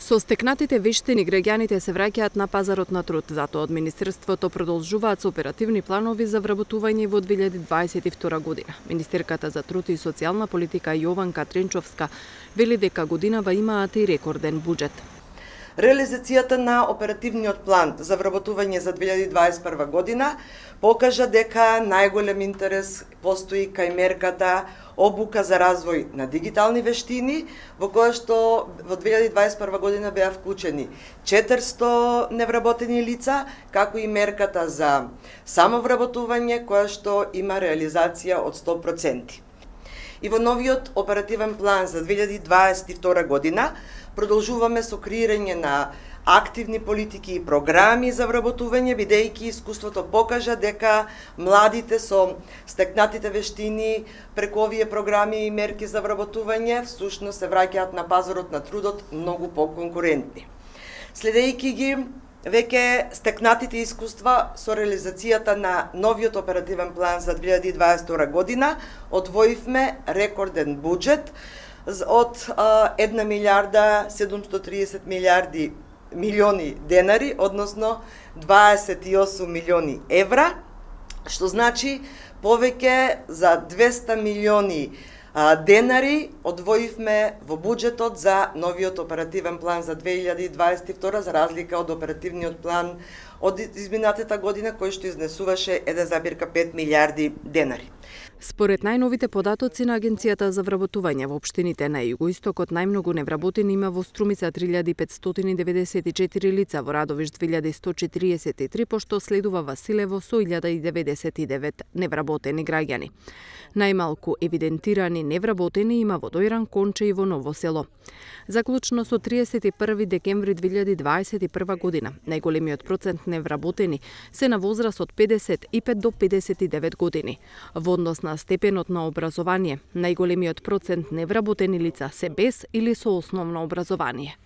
Со стекнатите вештини граѓаните се враќаат на пазарот на труд, затоа од Министерството продолжуваат со оперативни планови за вработување во 2022 година. Министерката за труд и социјална политика Јованка Тренчовска вели дека годинава имаат и рекорден буџет. Реализацијата на оперативниот план за вработување за 2021 година покажа дека најголем интерес постои кај мерката обука за развој на дигитални вештини, во која што во 2021 година беа вклучени 400 невработени лица, како и мерката за самовработување, која што има реализација од 100%. И во новиот оперативен план за 2022 година продолжуваме со креирање на активни политики и програми за вработување, бидејќи искуството покажа дека младите со стекнатите вештини преку овие програми и мерки за вработување всушност се враќаат на пазарот на трудот многу поконкурентни. Следејќи ги веќе стекнатите искуства со реализацијата на новиот оперативен план за 2022 година, одвоивме рекорден буџет од 1 милиарда 730 милиони денари, односно 28 милиони евра, што значи повеќе за 200 милиони денари одвоивме во буџетот за новиот оперативен план за 2022 за разлика од оперативниот план од изминатата година кој што изнесуваше 1,5 милиарди денари. Според најновите податоци на Агенцијата за вработување во општините на југоистокот, најмногу невработени има во Струмица 3594 лица, во Радовиш 2143, пошто следува Василево со 1099 невработени граѓани. Најмалку евидентирани невработени има во Дојран, Конче и во Ново село. Заклучно со 31 декември 2021 година, најголемиот процент невработени се на возраст од 55 до 59 години. Во однос на степенот на образование, најголемиот процент невработени лица се без или со основно образование.